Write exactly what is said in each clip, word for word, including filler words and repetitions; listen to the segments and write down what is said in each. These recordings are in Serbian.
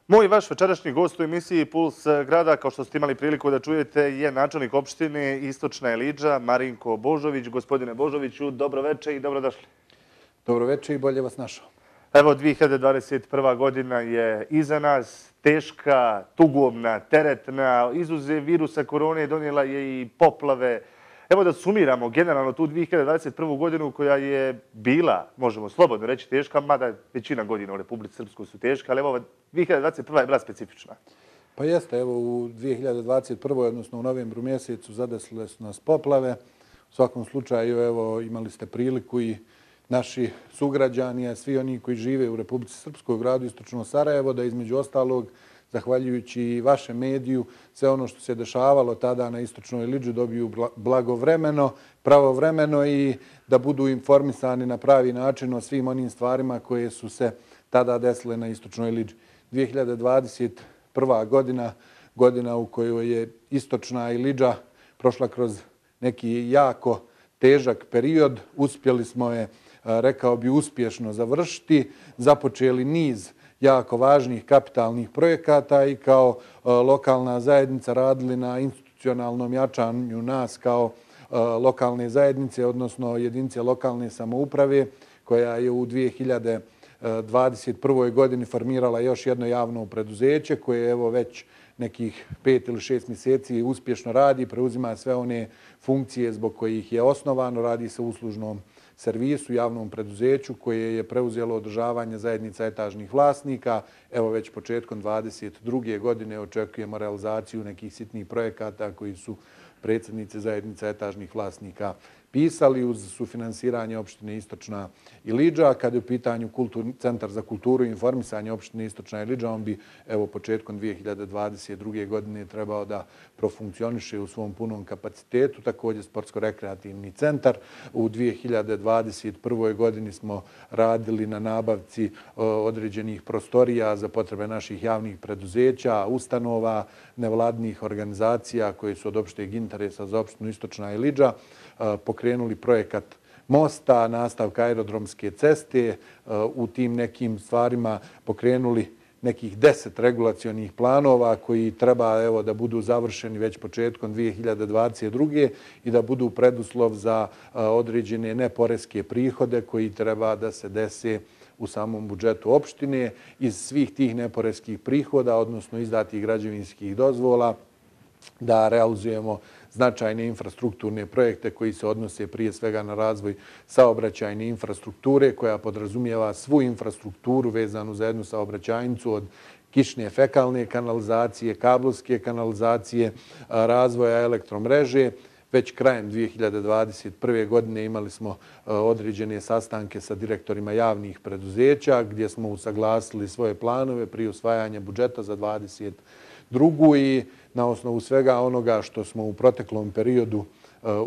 Moj i vaš večerašnji gost u emisiji Puls grada, kao što ste imali priliku da čujete, je načelnik opštine Istočna Ilidža, Marinko Božović. Gospodine Božoviću, dobroveče i dobrodošli. Dobroveče i bolje vas našao. Evo, dvije hiljade dvadeset prva godina je iza nas, teška, tugovna, teretna, izuzev virusa korone donijela je i poplave. Evo da sumiramo generalno tu dvije hiljade dvadeset prvu godinu koja je bila, možemo slobodno reći, teška, mada većina godina u Republici Srpskoj su teške, ali evo dvije hiljade dvadeset prva je bila specifična. Pa jeste, evo u dvije hiljade dvadeset prvoj odnosno u novembru mjesecu zadesile su nas poplave. U svakom slučaju, evo, imali ste priliku i naši sugrađani, a svi oni koji žive u Republici Srpskoj, u gradu Istočno Sarajevo, da između ostalog, zahvaljujući i vašem mediju, sve ono što se dešavalo tada na Istočnoj Ilidži dobiju blagovremeno, pravovremeno i da budu informisani na pravi način o svim onim stvarima koje su se tada desile na Istočnoj Ilidži. dvije hiljade dvadeset prva godina, godina u kojoj je Istočna Ilidža prošla kroz neki jako težak period, uspjeli smo je, rekao bi, uspješno završiti, započeli niz jako važnih kapitalnih projekata i kao lokalna zajednica radili na institucionalnom jačanju nas kao lokalne zajednice, odnosno jedinice lokalne samouprave, koja je u dvije hiljade dvadeset prvoj godini formirala još jedno javno preduzeće koje evo već nekih pet ili šest mjeseci uspješno radi, preuzima sve one funkcije zbog kojih je osnovano, radi se u uslužnom servisu, javnom preduzeću koje je preuzelo održavanje zajednica etažnih vlasnika. Evo već početkom dvadeset druge godine očekujemo realizaciju nekih sitnih projekata koji su predsjednici zajednica etažnih vlasnika pisali uz sufinansiranje opštine Istočna Ilidža. Kad je u pitanju Centar za kulturu i informisanje opštine Istočna Ilidža, on bi evo početkom dvije hiljade dvadeset druge godine trebao da profunkcioniše u svom punom kapacitetu. Također sportsko-rekreativni centar. U dvije hiljade dvadeset prvoj godini smo radili na nabavci određenih prostorija za potrebe naših javnih preduzeća, ustanova, nevladnih organizacija koje su od opšteg interesa za opštinu Istočna Ilidža, pokrenuli projekat mosta, nastavka aerodromske ceste, u tim nekim stvarima pokrenuli nekih deset regulacionih planova koji treba evo da budu završeni već početkom dvije hiljade dvadeset druge i da budu preduslov za određene neporeske prihode koji treba da se dese u samom budžetu opštine. Iz svih tih neporeskih prihoda, odnosno izdatih građevinskih dozvola, da realizujemo značajne infrastrukturne projekte koji se odnose prije svega na razvoj saobraćajne infrastrukture koja podrazumijeva svu infrastrukturu vezanu za jednu saobraćajnicu od kišne fekalne kanalizacije, kablovske kanalizacije, razvoja elektromreže. Već krajem dvije hiljade dvadeset prve godine imali smo određene sastanke sa direktorima javnih preduzeća gdje smo usaglasili svoje planove prije usvajanja budžeta za dvadeset drugu i na osnovu svega onoga što smo u proteklom periodu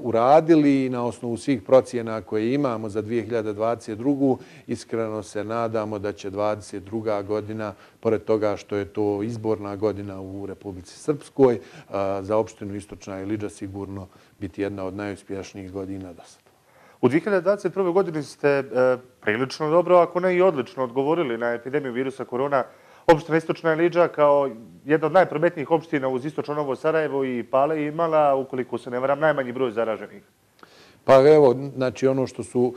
uradili i na osnovu svih procjena koje imamo za dvije hiljade dvadeset drugu iskreno se nadamo da će dvadeset druga godina, pored toga što je to izborna godina u Republici Srpskoj, za opštinu Istočna Ilidža sigurno biti jedna od najuspješnijih godina do sada. U dvije hiljade dvadeset prvoj godini ste prilično dobro, ako ne i odlično, odgovorili na epidemiju virusa korona. Opština Istočna Ilidža kao jedna od najprometnijih opština uz Istočno Novo Sarajevo i Pale imala, ukoliko se ne varam, najmanji broj zaraženih. Pa evo, znači ono što su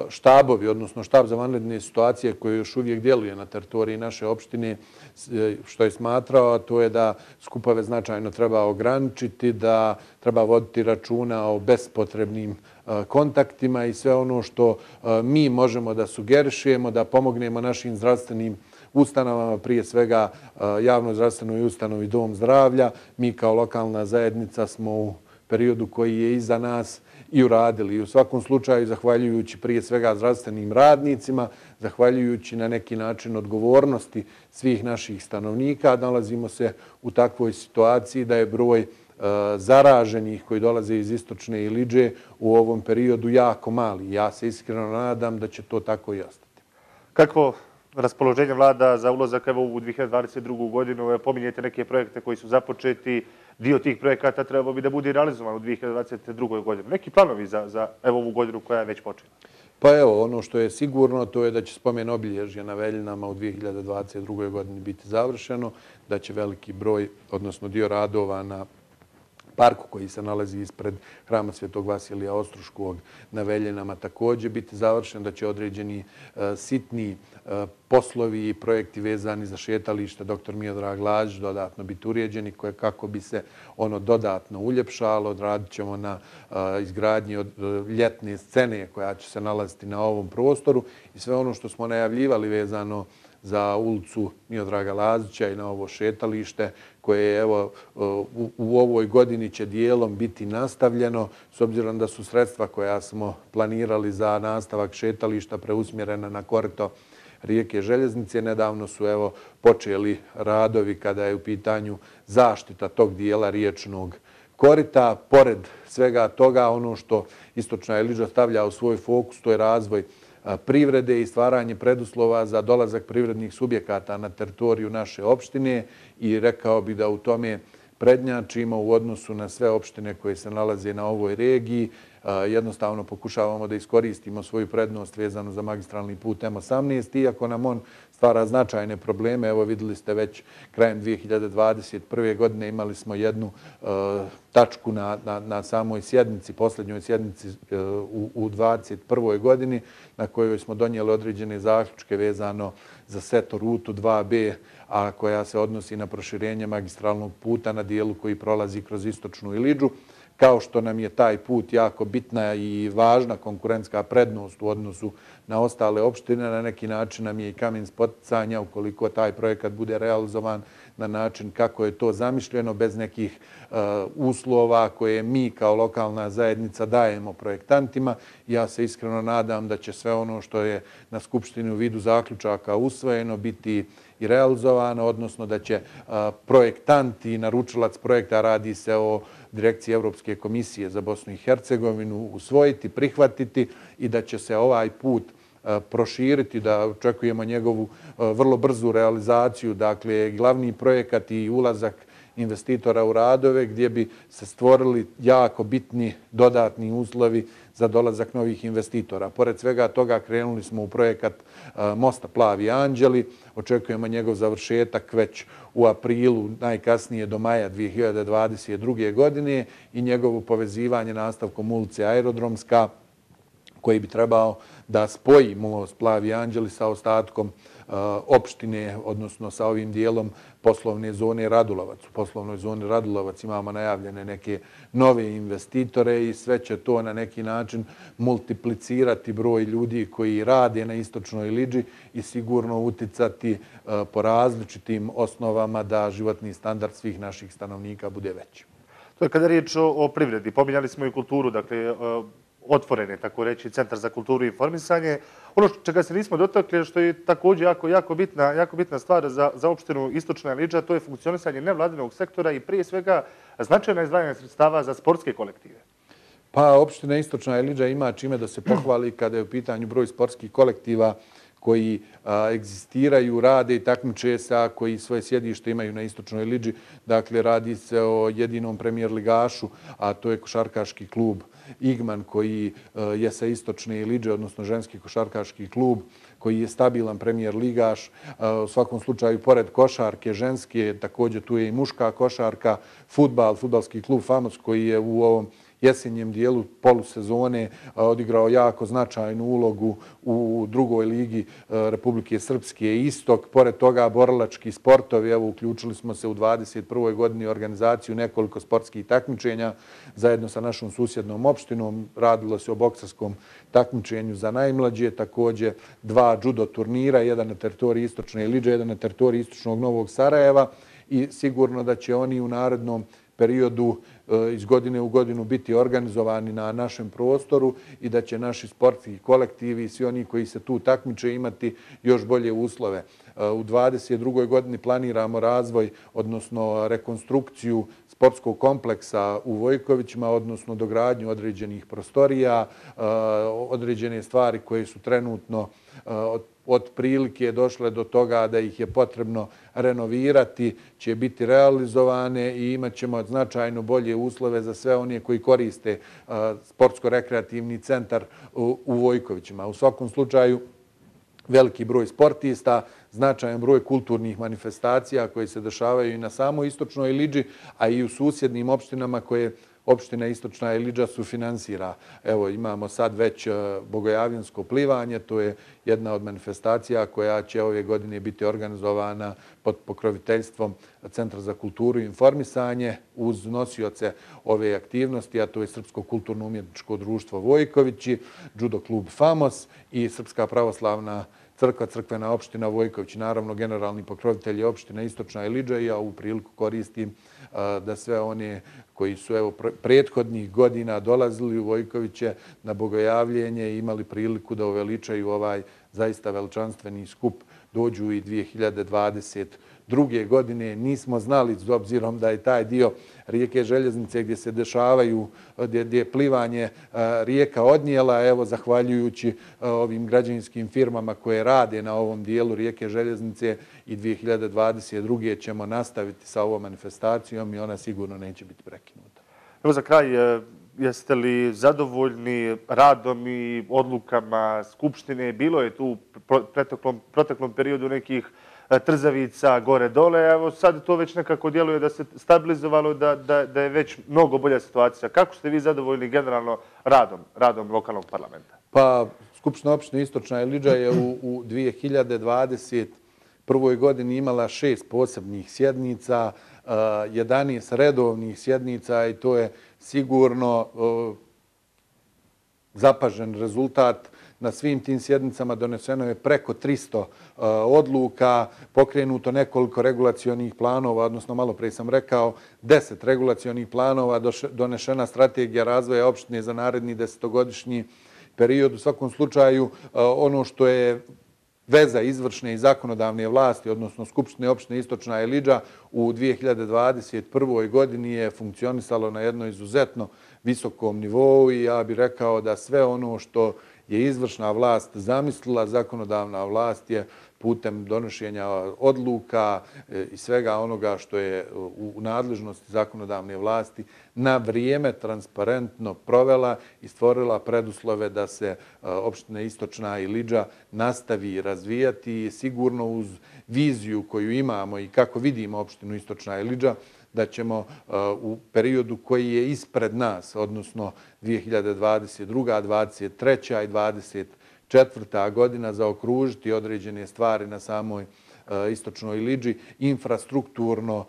štabovi, odnosno štab za vanredne situacije koji još uvijek djeluje na teritoriji naše opštine, što je smatrao, to je da skupove značajno treba ograničiti, da treba voditi računa o bespotrebnim kontaktima i sve ono što mi možemo da sugerišemo, da pomognemo našim zdravstvenim ustanovama, prije svega javnoj zdravstvenoj ustanovi Dom zdravlja. Mi kao lokalna zajednica smo u periodu koji je iza nas i uradili. I u svakom slučaju, zahvaljujući prije svega zdravstvenim radnicima, zahvaljujući na neki način odgovornosti svih naših stanovnika, nalazimo se u takvoj situaciji da je broj zaraženih koji dolaze iz Istočne Ilidže u ovom periodu jako mali. Ja se iskreno nadam da će to tako i ostati. Kako raspoloženje vlada za ulazak u dvije hiljade dvadeset drugu godinu? Pominjete neke projekte koji su započeti. Dio tih projekata trebao bi da bude realizovan u dvije hiljade dvadeset drugoj godini. Neki planovi za ovu godinu koja je već počela? Pa evo, ono što je sigurno, to je da će spomen obilježja na Veljinama u dvije hiljade dvadeset drugoj godini biti završeno, da će veliki broj, odnosno dio radova na parku koji se nalazi ispred Hrama Svetog Vasilija Ostroškog na Veljinama također biti završen, da će određeni sitni poslovi i projekti vezani za šetalište doktor Miodrag Lazić dodatno biti uređeni kako bi se ono dodatno uljepšalo. Radit ćemo na izgradnji od ljetne scene koja će se nalaziti na ovom prostoru i sve ono što smo najavljivali vezano za ulicu Miodraga Lazića i na ovo šetalište koje evo u, u ovoj godini će dijelom biti nastavljeno s obzirom da su sredstva koja smo planirali za nastavak šetališta preusmjerena na korito rijeke Željeznice. Nedavno su evo počeli radovi kada je u pitanju zaštita tog dijela riječnog korita. Pored svega toga, ono što Istočna Ilidža stavlja u svoj fokus, to je razvoj privrede i stvaranje preduslova za dolazak privrednih subjekata na teritoriju naše opštine i rekao bih da u tome prednjačimo u odnosu na sve opštine koje se nalaze na ovoj regiji. Jednostavno pokušavamo da iskoristimo svoju prednost vezanu za magistralni put M osamnaest, iako nam on stvara značajne probleme. Evo vidjeli ste već krajem dvije hiljade dvadeset prve godine imali smo jednu uh, tačku na, na, na samoj sjednici, posljednjoj sjednici uh, u, u dvadeset prvoj godini na kojoj smo donijeli određene zaključke vezano za seto rutu dva B, a koja se odnosi na proširenje magistralnog puta na dijelu koji prolazi kroz Istočnu Ilidžu. Kao što nam je taj put jako bitna i važna konkurentska prednost u odnosu na ostale opštine, na neki način nam je i kamen spoticanja ukoliko taj projekat bude realizovan na način kako je to zamišljeno, bez nekih uh, uslova koje mi kao lokalna zajednica dajemo projektantima. Ja se iskreno nadam da će sve ono što je na Skupštini u vidu zaključaka usvojeno biti i realizovano, odnosno da će uh, projektant i naručilac projekta, radi se o Direkciji Europske komisije za Bosnu i Hercegovinu, usvojiti, prihvatiti i da će se ovaj put proširiti, da očekujemo njegovu vrlo brzu realizaciju. Dakle, glavni projekat i ulazak investitora u radove gdje bi se stvorili jako bitni dodatni uslovi za dolazak novih investitora. Pored svega toga krenuli smo u projekat mosta Plavi Anđeli. Očekujemo njegov završetak već u aprilu, najkasnije do maja dvije hiljade dvadeset druge godine i njegovo povezivanje nastavkom ulice Aerodromska koji bi trebao da spoji most Plavi Anđeli sa ostatkom uh, opštine, odnosno sa ovim dijelom poslovne zone Radulovac. U poslovnoj zoni Radulovac imamo najavljene neke nove investitore i sve će to na neki način multiplicirati broj ljudi koji rade na Istočnoj Ilidži i sigurno uticati uh, po različitim osnovama da životni standard svih naših stanovnika bude veći. To je kada je riječ o, o privredi. Pominjali smo i kulturu, dakle, uh... otvoren je, tako reći, Centar za kulturu i informisanje. Ono čega se nismo dotakli, što je također jako, jako, bitna, jako bitna stvar za, za opštinu Istočna Ilidža, to je funkcionisanje nevladinog sektora i prije svega značajna izdvajanja sredstava za sportske kolektive. Pa opština Istočna Ilidža ima čime da se pohvali kada je u pitanju broj sportskih kolektiva koji a, egzistiraju, rade i takmiče se, a koji svoje sjedište imaju na Istočnoj Ilidži. Dakle, radi se o jedinom premijer ligašu, a to je košarkaški klub Igman koji a, je sa Istočne Ilidže, odnosno ženski košarkaški klub koji je stabilan premijer ligaš. A, u svakom slučaju, pored košarke ženske, također tu je i muška košarka, fudbal, fudbalski klub Famos koji je u ovom jesenjem dijelu polusezone odigrao jako značajnu ulogu u drugoj ligi Republike Srpske Istok. Pored toga, borilački sportovi, evo, uključili smo se u dvadeset prvoj godini u organizaciju nekoliko sportskih takmičenja zajedno sa našom susjednom opštinom. Radilo se o boksarskom takmičenju za najmlađe, također dva judo turnira, jedan na teritoriji Istočne Ilidže, jedan na teritoriji Istočnog Novog Sarajeva i sigurno da će oni u narednom periodu iz godine u godinu biti organizovani na našem prostoru i da će naši sportski kolektivi i svi oni koji se tu takmiče imati još bolje uslove. U dvadeset drugoj godini planiramo razvoj, odnosno rekonstrukciju sportskog kompleksa u Vojkovićima, odnosno dogradnju određenih prostorija, određene stvari koje su trenutno otprilike došle do toga da ih je potrebno renovirati, će biti realizovane i imat ćemo značajno bolje uslove za sve one koji koriste sportsko-rekreativni centar u Vojkovićima. U svakom slučaju, veliki broj sportista, značajan broj kulturnih manifestacija koje se dešavaju i na samoj Istočnoj Iliđi, a i u susjednim opštinama koje opština Istočna Iliđa sufinansira. Evo, imamo sad već bogojavljansko plivanje, to je jedna od manifestacija koja će ove godine biti organizovana pod pokroviteljstvom Centra za kulturu i informisanje uz nosioce ove aktivnosti, a to je Srpsko kulturno-umjetničko društvo Vojkovići, Judo klub Famos i Srpska pravoslavna crkva, crkvena opština Vojković. Naravno, generalni pokrovitelj je opština Istočna Iliđa i ja ovu priliku koristim da sve one koji su evo prethodnih godina dolazili u Vojkoviće na bogojavljenje i imali priliku da uveličaju ovaj zaista veličanstveni skup dođu i dvije hiljade dvadeset druge godine. Nismo znali, s obzirom da je taj dio rijeke Željeznice gdje se dešavaju, gdje je plivanje rijeka odnijela, evo, zahvaljujući ovim građevinskim firmama koje rade na ovom dijelu rijeke Željeznice i dvije hiljade dvadeset druge ćemo nastaviti sa ovom manifestacijom i ona sigurno neće biti prekinuta. Evo za kraj, jeste li zadovoljni radom i odlukama Skupštine? Bilo je tu u proteklom, proteklom periodu nekih trzavica gore-dole. Evo sad to već nekako djeluje da se stabilizovalo, da, da, da je već mnogo bolja situacija. Kako ste vi zadovoljni generalno radom, radom lokalnog parlamenta? Pa, Skupština opštine Istočna Iliđa je u, u dvije hiljade dvadeset prvoj godini imala šest posebnih sjednica, jedanaest redovnih sjednica i to je sigurno zapažen rezultat. Na svim tim sjednicama doneseno je preko tristo odluka, pokrenuto nekoliko regulacionih planova, odnosno malo prije sam rekao deset regulacionih planova, donešena strategija razvoja opštine za naredni desetogodišnji period. U svakom slučaju, ono što je veza izvršne i zakonodavne vlasti, odnosno Skupštine opštine Istočna Iliđa u dvije hiljade dvadeset prvoj godini je funkcionisalo na jednom izuzetno visokom nivou i ja bih rekao da sve ono što je izvršna vlast zamislila, zakonodavna vlast je putem donošenja odluka i svega onoga što je u nadležnosti zakonodavne vlasti na vrijeme transparentno provela i stvorila preduslove da se opština Istočna Iliđa nastavi razvijati i sigurno uz viziju koju imamo i kako vidimo opštinu Istočna Iliđa, da ćemo u periodu koji je ispred nas, odnosno dvije hiljade dvadeset druga, dvadeset treća i dvadeset četvrta godina zaokružiti određene stvari na samoj Istočnoj Iliđi, infrastrukturno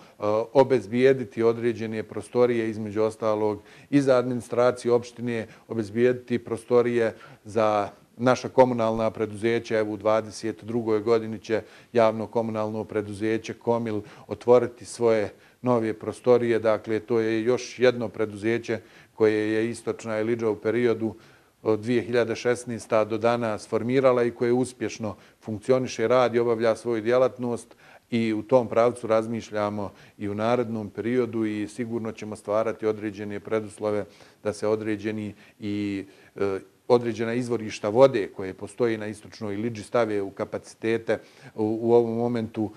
obezbijediti određene prostorije, između ostalog i za administraciju opštine, obezbijediti prostorije za naša komunalna preduzeća. Evo u dvadeset drugoj godini će javno komunalno preduzeće Komil otvoriti svoje nove prostorije. Dakle, to je još jedno preduzeće koje je Istočna Iliđa u periodu od dvije hiljade šesnaeste. do danas formirala i koje uspješno funkcioniše, radi, obavlja svoju djelatnost i u tom pravcu razmišljamo i u narednom periodu i sigurno ćemo stvarati određene preduslove da se određeni i određena izvorišta vode koje postoji na Istočnoj Iliđi stave u kapacitete u, u ovom momentu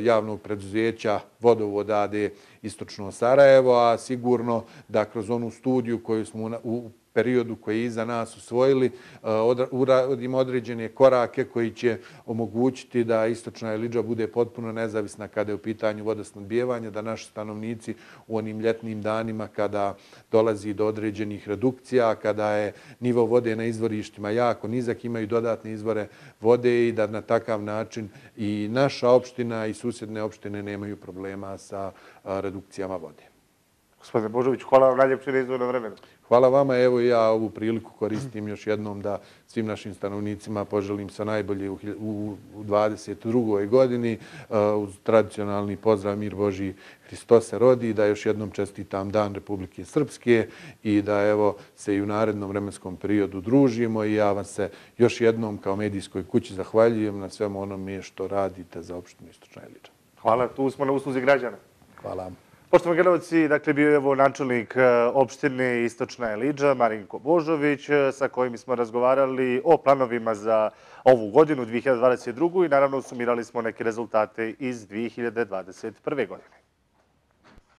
javnog preduzeća Vodovoda A D Istočno Sarajevo, a sigurno da kroz onu studiju koju smo u periodu koji je iza nas usvojili, uradimo određene korake koji će omogućiti da Istočna Iliđa bude potpuno nezavisna kada je u pitanju vodosnabdijevanja, da naši stanovnici u onim ljetnim danima kada dolazi do određenih redukcija, kada je nivo vode na izvorištima jako nizak, imaju dodatne izvore vode i da na takav način i naša opština i susjedne opštine nemaju problema sa redukcijama vode. Gospodine Božović, hvala vam najljepše na izdvojeno vremenu. Hvala vama. Evo ja ovu priliku koristim još jednom da svim našim stanovnicima poželim sve najbolje u dvadeset drugoj godini uz tradicionalni pozdrav Mir Božji Hristos se rodi, da još jednom čestitam Dan Republike Srpske i da evo se i u narednom vremenskom periodu družimo i ja vam se još jednom kao medijskoj kući zahvaljujem na svemu onome što radite za opštinu Istočna Iliđa. Hvala, tu smo na usluzi građana. Hvala. Poštovani gledalci, dakle, bio je evo načelnik opštine Istočna Eliđa, Marinko Božović, sa kojim smo razgovarali o planovima za ovu godinu, dvije hiljade dvadeset drugu. i naravno sumirali smo neke rezultate iz dvije hiljade dvadeset prve. godine.